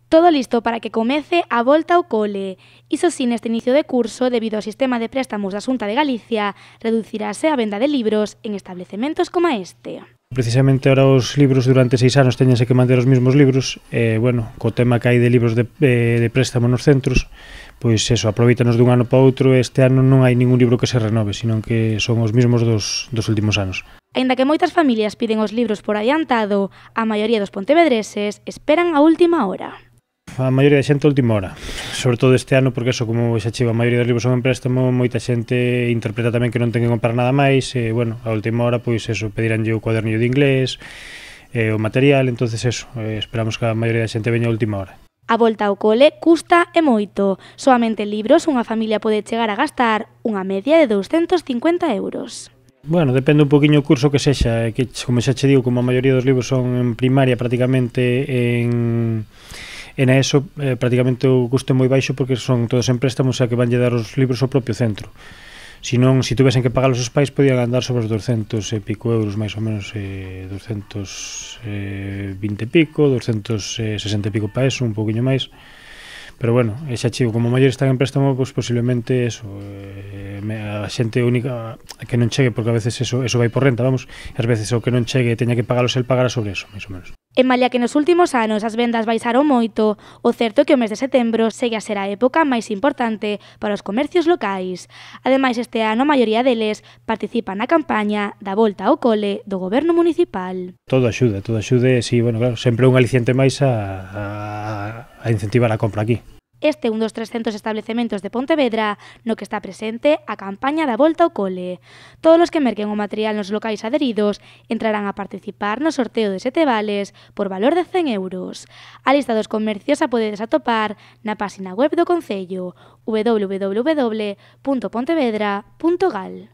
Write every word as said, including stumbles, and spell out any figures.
Todo listo para que comece a volta ao cole. Iso sí, neste inicio de curso, debido ao sistema de préstamos da Xunta de Galicia, reducirase a venda de libros en establecementos como este. Precisamente ahora os libros durante seis anos teñense que manter os mesmos libros e, bueno, co tema que hai de libros de, de, de préstamo nos centros, pois eso, aproveitanos dun ano para outro e este ano non hai ningún libro que se renove, sino que son os mesmos dos, dos últimos anos. Aínda que moitas familias piden os libros por adiantado, a maioría dos pontevedreses esperan a última hora. A maioría da xente a última hora, sobre todo este ano, porque eso, como xa chego, a maioría dos libros son en préstamo, moita xente interpreta tamén que non ten que comprar nada máis, e, bueno, a última hora, pois eso, pediranlle o cuadernillo de inglés, e, o material, entonces eso, eh, esperamos que a maioría da xente veña a última hora. A volta ao cole custa e moito. Soamente libros unha familia pode chegar a gastar unha media de douscentos cincuenta euros. Bueno, depende un poquinho o curso que sexa, que, como xa che digo, como a maioría dos libros son en primaria prácticamente en... E na ESO eh, prácticamente o custo é moi baixo porque son todos en préstamos, xa que vanlle dar os libros ao propio centro. Si non, si tuvesen que pagalos os pais, podían andar sobre os doscientos e pico euros, máis ou menos, eh, doscientos vinte e pico, doscientos sesenta e pico para eso, un poquinho máis. Pero bueno, xa chigo, como maiores están en préstamo, pois posiblemente eso, eh, a xente única que non chegue, porque a veces eso, eso vai por renta, vamos, e ás veces o que non chegue teña que pagalos el pagará sobre eso, máis ou menos. En malia que nos últimos anos as vendas baixaron moito, o certo é que o mes de setembro segue a ser a época máis importante para os comercios locais. Ademais, este ano a maioría deles participan na campaña da volta ao cole do goberno municipal. Todo axuda, todo axuda, e si, bueno, claro, sempre un aliciente máis a, a, a incentivar a compra aquí. Este é un dos trescentos establecementos de Pontevedra no que está presente a campaña da volta ao cole. Todos os que merquen o material nos locais adheridos entrarán a participar no sorteo de sete vales por valor de cen euros. A lista dos comercios a podedes atopar na página web do Concello w w w punto pontevedra punto gal.